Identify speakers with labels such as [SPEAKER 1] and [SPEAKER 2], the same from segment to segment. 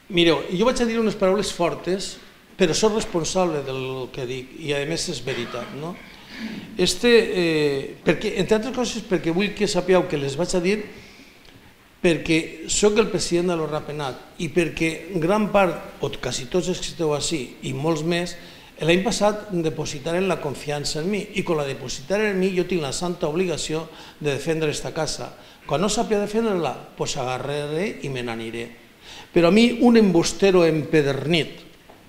[SPEAKER 1] Mireu, jo vaig a dir unes paraules fortes, però soc responsable del que dic, i a més és veritat, no? Perquè, entre altres coses, perquè vull que sapigueu que les vaig a dir perquè sóc el president de l'Orrapenat i perquè gran part, o quasi tots els que esteu així, i molts més, l'any passat depositaren la confiança en mi, i quan la depositaren en mi jo tinc la santa obligació de defendre aquesta casa. Quan no sàpiga defendre-la, doncs agarraré i me n'aniré. Però a mi un embustero empedernit,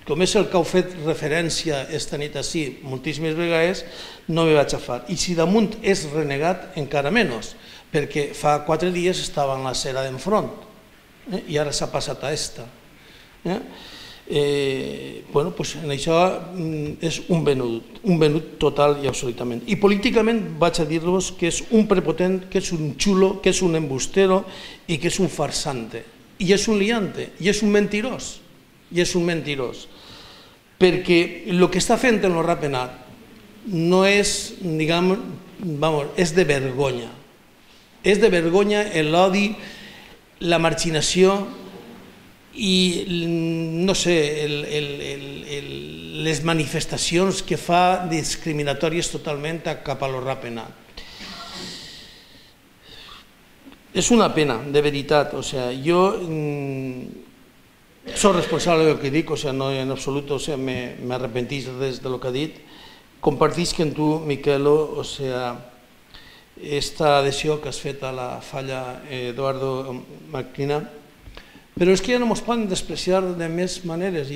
[SPEAKER 1] com és el que heu fet referència esta nit així moltíssimes vegades, no me vaig agafar. I si damunt és renegat, encara menys, perquè fa 4 dies estava en la cera d'enfront i ara s'ha passat a esta. Bueno, doncs en això és un venut total i absolutament. I políticament vaig a dir-vos que és un prepotent, que és un xulo, que és un embustero i que és un farsante. I és un liante, i és un mentirós, i és un mentirós. Perquè el que està fent en l'Orrapenat no és, diguem, és de vergonya. És de vergonya l'odi, la marginació i, no sé, les manifestacions que fa discriminatòries totalment cap a l'Orrapenat. És una pena, de veritat. Jo soc responsable del que dic, no en absolut m'arrepentís res del que ha dit. Compartisc amb tu, Miquelo, aquesta adhesió que has fet a la falla Eduardo Marquina, però és que ja no ens poden despreciar de més maneres.